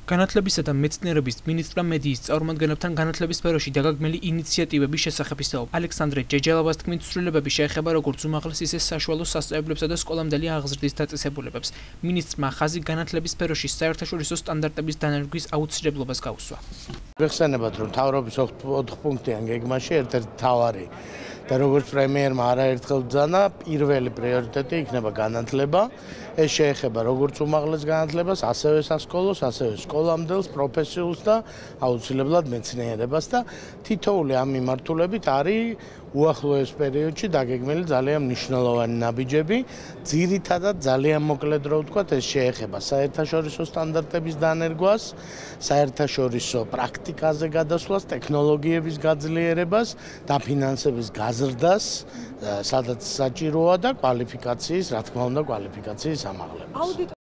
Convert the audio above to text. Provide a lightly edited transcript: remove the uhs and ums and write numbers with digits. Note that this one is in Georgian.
განათლებისა და მეცნიერების მინისტრმა მედიის წარმომადგენლებთან განათლების სფეროში დაგეგმილი ინიციატივების შესახებ ისაუბრა. ალექსანდრე ჯეჯელავას თქმით, ცვლილებები შეეხება როგორც უმაღლეს, ისე საშუალო სასწავლებლებსა და სკოლამდელი აღზრდის დაწესებულებებს. მინისტრმა ხაზი განათლების სფეროში საერთაშორისო სტანდარტების დანერგვის აუცილებლობას გაუსვა. ვეხსენებათ, რომ მთავრობის 4 პუნქტიან გეგმაში ერთ-ერთი მთავარი და როგორც პრემიერმა არაერთხელ ბრძანა, პირველი პრიორიტეტი იქნება განათლება. ეს შეეხება როგორც უმაღლეს განათლებას, ასევე სასკოლოს, ასევე სკოლამდელს, პროფესიულს და აუცილებლად მეცნიერებას და თითოეული ამ მიმართულებით არის უახლოეს პერიოდში დაგეგმილი ძალიან მნიშვნელოვანი ნაბიჯები. ძირითადად ძალიან მოკლედ რო ვთქვათ, ეს შეეხება საერთაშორისო სტანდარტების დანერგვას, საერთაშორისო პრაქტიკაზე გადასვლას, ტექნოლოგიების გაძლიერებას, დაფინანსების გაზრდას, სადაც საჭიროა და კვალიფიკაციის, რა თქმა უნდა, კვალიფიკაციის ამაღლებას.